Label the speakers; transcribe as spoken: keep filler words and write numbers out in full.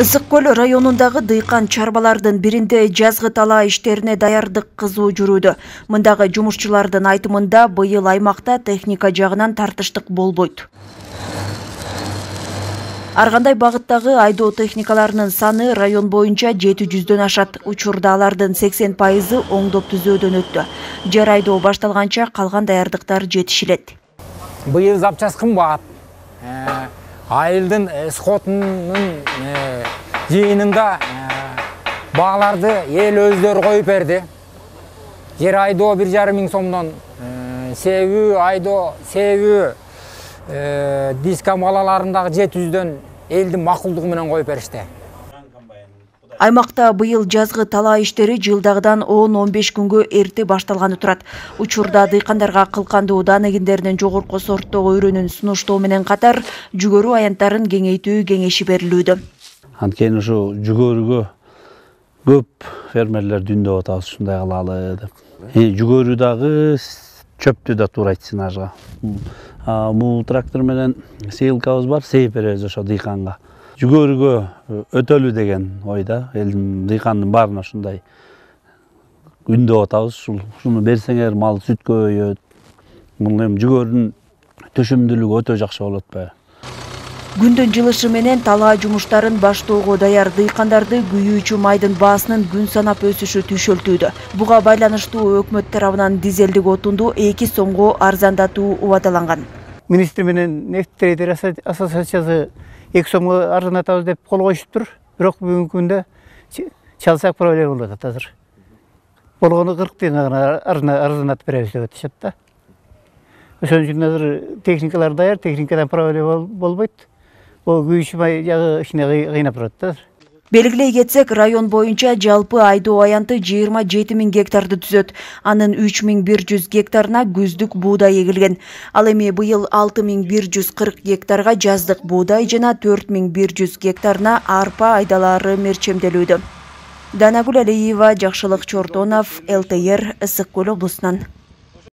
Speaker 1: Ысык көл районундагы дыйкан чарбалардын биринде жазгы талаа иштерине даярдык кызуу жүрүүдө. Мындагы жумушчулардын айтымында быйыл аймакта техника жагынан тартыштык болбойт. Ар кандай багыттагы айдоо техникаларынын саны район боюнча жети жүздөн ашат. Учурда алардын сексен пайызы оңдоп түзөөдөн өттү. Жер айдоо башталганча калган даярдыктар жетишилет.
Speaker 2: Быйыл запчас кымбат. Айылдын скотунун жыйынында бааларды эл өздөрү коюп берди. Жер айдоо бир жарым миң сомдон, себүү айдоо, себүү диск амалаларындагы жети жүздөн элдин макулдугу менен коюп беришти.
Speaker 1: Аймакта быйыл жазгы талаа иштери жылдагыдан он он беш күнгө эрте башталганы турат. Учурда дыйкандарга кылкандуу дан эгиндеринин жогорку сорттогу өрөнүн сунуштоо менен катар жүгөрү аянттарын кеңейтүү кеңеши берилүүдө.
Speaker 3: Анткени ушу жүгөрүгө көп фермерлер дүндөп атабыз, ушундай кылалы деп. Жүгөрү дагы чөптү да туура сынажга. Бул трактор менен сейилкабыз бар, сейип беребиз ошо дыйканга. Жүгөрүгө өтөлү деген ойда, элдин дыйкандын баарына ушундай күндөп атабыз. Ушуну берсеңер мал сүт көбөйөт. Бул эми жүгөрүнүн төшөмдүүлүгү өтө жакшы болот баягы.
Speaker 1: Күндүн жылышы менен талаа жумуштарын баштоого даяр дыйкандарды күйүүчү майдын баасынын күн санап өсүшү түйшөлтүүдө. Буга байланыштуу өкмөт тарабынан дизелдик отунду эки сомго арзандатуу убадаланган.
Speaker 4: Министр менен нефть трейдер ассоциациясы эки сомго арзандатабыз деп кол коюшуптур. Бирок бүгүнкү күндө чалсак проблема болуп атат азыр. Болгону кырк тыйынга гана арзандатып беребиз деп атышат да. Ошон үчүн азыр техникалар даяр, техникадан проблема болбойт. Ол күйүүчү май жагы ишине кыйнап турат да.
Speaker 1: Белгилей кетсек, район боюнча жалпы айдоо аянты жыйырма жети миң гектарды түзөт. Анын үч миң бир жүз гектарына күздүк буудай эгилген. Ал эми быйыл алты миң бир жүз кырк гектарга жаздык буудай жана төрт миң бир жүз гектарына арпа айдалары мерчемделүүдө. Данагүл Алиева, Жакшылык Чортонов, эл тэ эр, Ысык көл облусунан.